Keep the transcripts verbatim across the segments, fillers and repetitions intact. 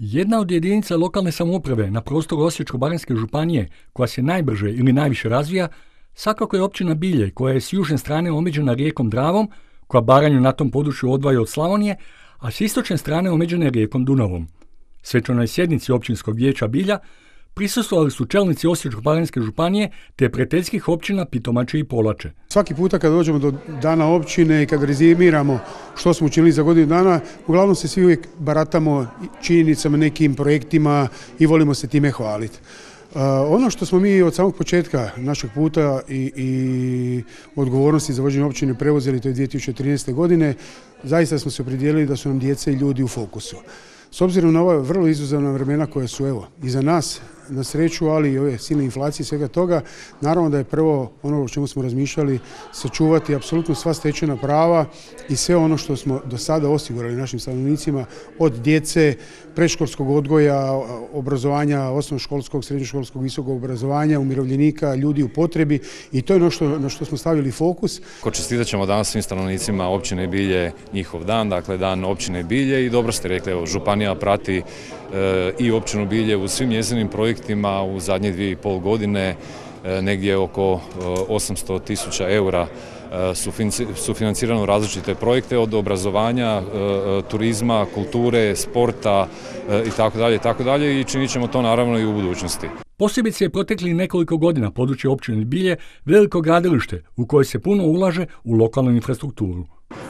Jedna od jedinica lokalne samouprave na prostoru Osječko-baranjske županije koja se najbrže ili najviše razvija, svakako je općina Bilje koja je s južne strane omeđena rijekom Dravom, koja Baranju na tom području odvaja od Slavonije, a s istočne strane omeđena je rijekom Dunavom. Svečanoj sjednici općinskog vijeća Bilja prisustvovali su čelnici Osječko-baranjske županije te prijateljskih općina Pitomače i Polače. Svaki puta kad dođemo do dana općine i kad rezimiramo što smo učinili za godinu dana, uglavnom se svi uvijek baratamo činjenicama, nekim projektima i volimo se time hvaliti. Uh, ono što smo mi od samog početka našeg puta i, i odgovornosti za vođenje općine preuzeli, to je dvije tisuće trinaeste. godine, zaista smo se opredijelili da su nam djeca i ljudi u fokusu. S obzirom na ova vrlo izazovna vremena koja su evo iza nas, na sreću, ali i ove silne inflacije i svega toga, naravno da je prvo ono o čemu smo razmišljali sačuvati apsolutno sva stečena prava i sve ono što smo do sada osigurali našim stanovnicima od djece, predškolskog odgoja, obrazovanja, osnovnoškolskog, srednjoškolskog, visokog obrazovanja, umirovljenika, ljudi u potrebi, i to je ono što, na što smo stavili fokus. Čestitat ćemo danas svim stanovnicima općine Bilje njihov dan, dakle dan općine Bilje, i dobro ste rekli, evo, županija prati e, i općinu Bilje u svim njezinim projektima u zadnje dvije i pol godine, e, negdje oko e, osamsto tisuća eura sufinancirano različite projekte od obrazovanja, turizma, kulture, sporta i tako dalje i tako dalje, i činit ćemo to naravno i u budućnosti. Posebice je protekli nekoliko godina područje općine Bilje veliko gradilište u koje se puno ulaže u lokalnu infrastrukturu.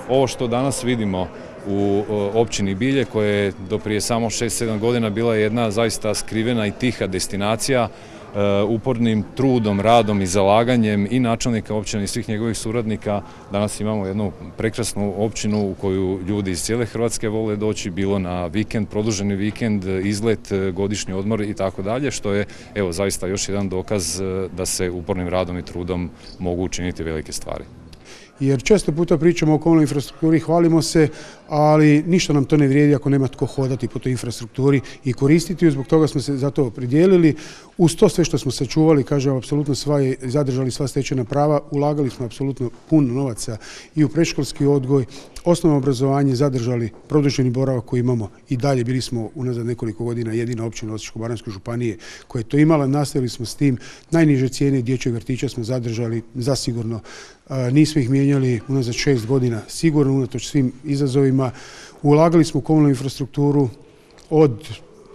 Ovo što danas vidimo u općini Bilje, koja je do prije samo šest sedam godina bila jedna zaista skrivena i tiha destinacija, upornim trudom, radom i zalaganjem i načelnika općine i svih njegovih suradnika, danas imamo jednu prekrasnu općinu u koju ljudi iz cijele Hrvatske vole doći, bilo na vikend, produženi vikend, izlet, godišnji odmor i tako dalje, što je evo zaista još jedan dokaz da se upornim radom i trudom mogu učiniti velike stvari. Jer često puta pričamo o komunalnoj infrastrukturi, hvalimo se, ali ništa nam to ne vrijedi ako nema tko hodati po toj infrastrukturi i koristiti ju. Zbog toga smo se za to opredijelili. Uz to sve što smo sačuvali, kažem, apsolutno sva je, zadržali sva stečena prava, ulagali smo apsolutno puno novaca i u predškolski odgoj, osnovno obrazovanje, zadržali produženi boravak koji imamo i dalje. Bili smo unazad nekoliko godina jedina općina Osječko-baranjske županije koja je to imala, nastavili smo s tim. Najniže cijene dječjeg vrtića smo zadržali zasigurno. Nismo ih mijenjali unazad šest godina, sigurno unatoč svim izazovima. Ulagali smo u komunalnu infrastrukturu od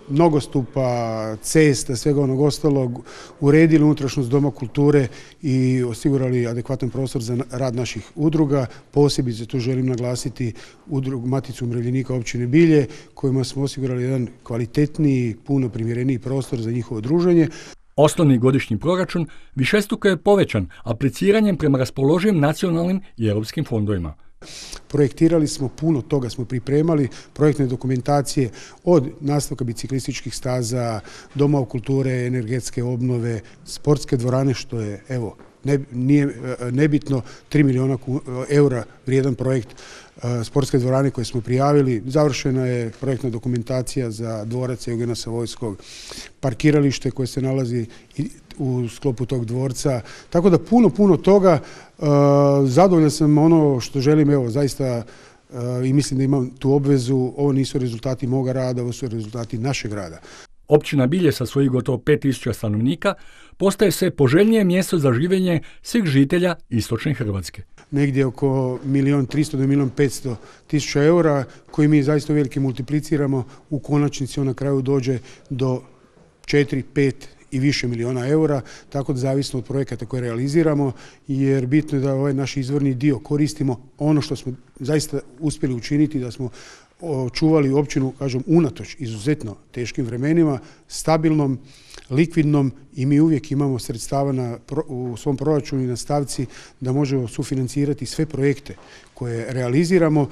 nogostupa, cesta, svega onog ostalog, uredili unutrašnjost Doma kulture i osigurali adekvatan prostor za rad naših udruga. Posebice tu želim naglasiti udrugu Maticu umirovljenika općine Bilje, kojima smo osigurali jedan kvalitetniji, puno primjereniji prostor za njihovo druženje. Osnovni godišnji proračun višestruko je povećan apliciranjem prema raspoloživim nacionalnim i europskim fondovima. Projektirali smo, puno toga smo pripremali, projektne dokumentacije od nastavka biciklističkih staza, doma kulture, energetske obnove, sportske dvorane, što je, evo, ne, nije nebitno, tri milijuna eura vrijedan projekt sportske dvorane koje smo prijavili. Završena je projektna dokumentacija za dvorac Eugena Savojskog, parkiralište koje se nalazi u sklopu tog dvorca. Tako da puno, puno toga. Zadovoljan sam ono što želim, evo, zaista, i mislim da imam tu obvezu. Ovo nisu rezultati moga rada, ovo su rezultati našeg rada. Općina Bilje sa svojih gotovo pet tisuća stanovnika postaje sve poželjnije mjesto za življenje svih žitelja istočne Hrvatske. Negdje oko milijun tristo do milijun petsto tisuća eura koji mi zaista veliki multipliciramo, u konačnici on na kraju dođe do četiri, pet i više milijuna eura, tako da zavisno od projekata koje realiziramo, jer bitno je da ovaj naš izvorni dio koristimo ono što smo zaista uspjeli učiniti, da smo očuvali općinu, kažem, unatoč izuzetno teškim vremenima, stabilnom, likvidnom, i mi uvijek imamo sredstava na, u svom proračunu i na stavci da možemo sufinancirati sve projekte koje realiziramo.